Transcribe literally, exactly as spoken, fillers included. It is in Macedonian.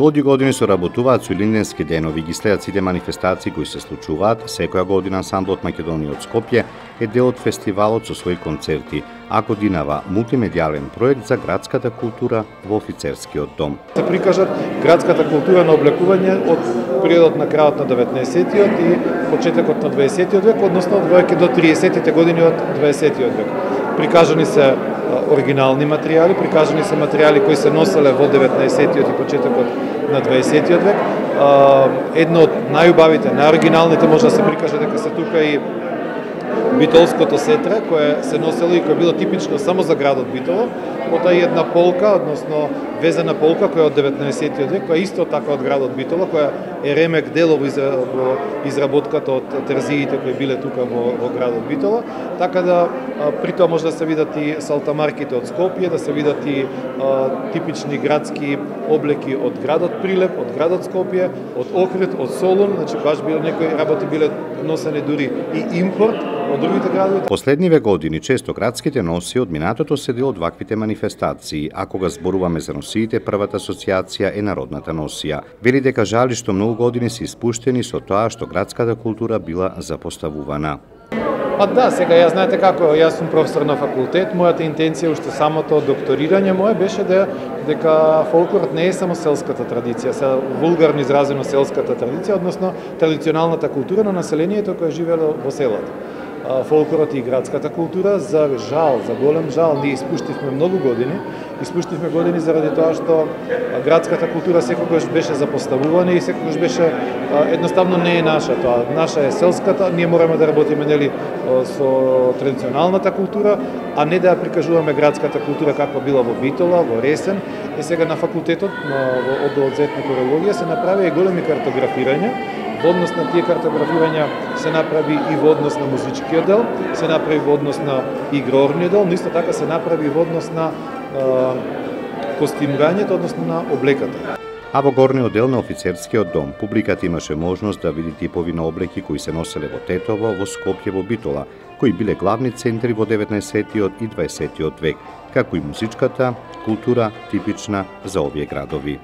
Долги години соработуваат со Илинденски денови, ги следат сите манифестации кои се случуваат. Секоја година ансамблот Македонија од Скопје е дел од фестивалот со своји концерти, а годинава мултимедијален проект за градската култура во офицерскиот дом. Се прикажат градската култура на облекување од периодот на крајот на деветнаесеттиот и почетокот на дваесеттиот век, односно од до триесеттите години од дваесеттиот век. Прикажани се оригинални материјали, прикажани се материјали кои се носеле во деветнаесеттиот и почетокот на дваесеттиот век. Едно од најубавите, најоригиналните може да се прикаже дека се тука и битолското сетре, кое се носело и кое било типично само за градот Битола, потоа и една полка, односно везена полка која од деветнаесеттиот век, која исто така од градот Битола, која е ремек делово во изработката од терзиите кои биле тука во, во градот Битола, така да при тоа може да се видат и салтамарките од Скопје, да се видат и а, типични градски облеки од градот Прилеп, од градот Скопје, од Охрид, од Солун, значи баш било некои работи биле носени дури и импорт од другите градови. Последниве години често градските носи од минатото се дел од ваквите манифестации, а кога зборуваме за носиите, првата асоциација е народната носија. Вели дека жали што многу години се испуштени со тоа што градската култура била запоставувана. Па да, сега ја знаете како, јас сум професор на факултет, мојата интенција уште самото докторирање мое беше да дека фолклорот не е само селската традиција, се вулгарно изразено селската традиција, односно традиционалната култура на населението кое живеело во селата. Фолклорот и градската култура, за жал, за голем жал, ние испуштивме многу години. Испуштивме години заради тоа што градската култура секогаш беше запоставувана и секогаш беше едноставно не е наша тоа. Наша е селската, ние мораме да работиме нели со традиционалната култура, а не да ја прикажуваме градската култура каква била во Битола, во Ресен. И сега на факултетот, во одделот за етнокурологија се направи и големи картографирања. Во однос на тие картографирања се направи и во однос на музичкиот дел, се направи во однос на игрорниот дел, но исто така се направи во однос на костимирањето, односно на облеката. А во горниот дел на офицерскиот дом, публиката имаше можност да види типови на облеки кои се носеле во Тетово, во Скопје, во Битола, кои биле главни центри во деветнаесеттиот и дваесеттиот век, како и музичката култура типична за овие градови.